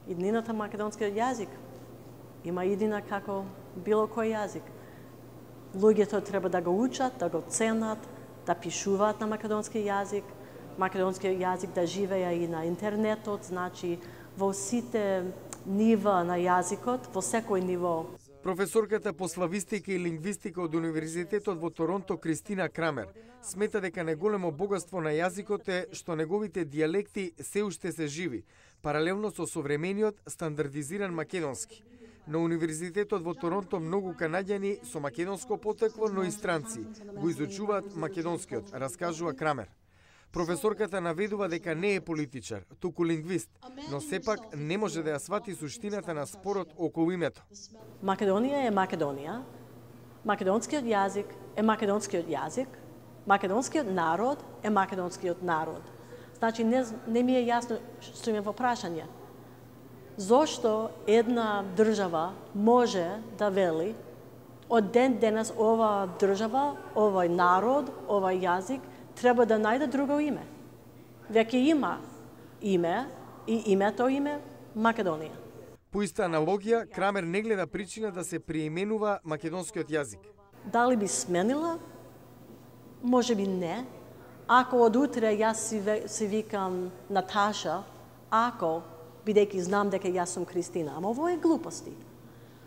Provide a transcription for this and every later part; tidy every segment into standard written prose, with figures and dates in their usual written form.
Иднината македонскиот јазик има иднина како било кој јазик. Луѓето треба да го учат, да го ценат, да пишуваат на македонски јазик, македонскиот јазик да живее и на интернетот, значи во сите нива на јазикот, во секој ниво. Професорката по славистика и лингвистика од Универзитетот во Торонто Кристина Крамер смета дека најголемо богатство на јазикот е што неговите дијалекти се уште се живи, паралелно со современиот стандардизиран македонски. На Универзитетот во Торонто многу канаѓани со македонско потекло, но и странци го изучуваат македонскиот, раскажува Крамер. Професорката наведува дека не е политичар, туку лингвист, но сепак не може да ја свати суштината на спорот околу името. Македонија е Македонија, македонскиот јазик е македонскиот јазик, македонскиот народ е македонскиот народ. Значи не ми е јасно што има во прашање. Зошто една држава може да вели од ден денес ова држава, овој народ, овој јазик треба да најде друго име. Веќе има име и името име Македонија. По иста аналогија, Крамер не гледа причина да се преименува македонскиот јазик. Дали би сменила? Може би не. Ако од утре јас си викам Наташа, ако, бидејќи знам дека јас сум Кристина, ама ово е глупости.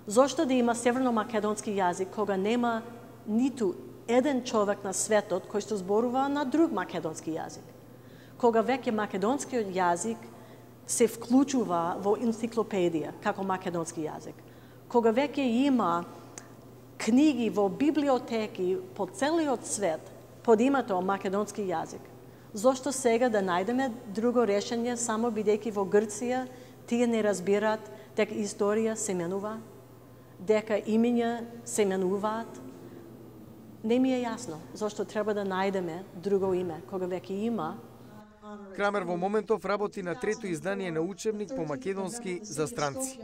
Зошто да има северно-македонски јазик кога нема ниту еден човек на светот кој што зборува на друг македонски јазик? Кога веќе македонскиот јазик се вклучува во енциклопедија како македонски јазик. Кога веќе има книги во библиотеки по целиот свет под името македонски јазик. Зошто сега да најдеме друго решение само бидејќи во Грција тие не разбираат дека историја се менува, дека имиња се менуваат? Не ми е јасно зошто треба да најдеме друго име кога веќе има. Крамер во моментов работи на трето издание на учебник по македонски за странци.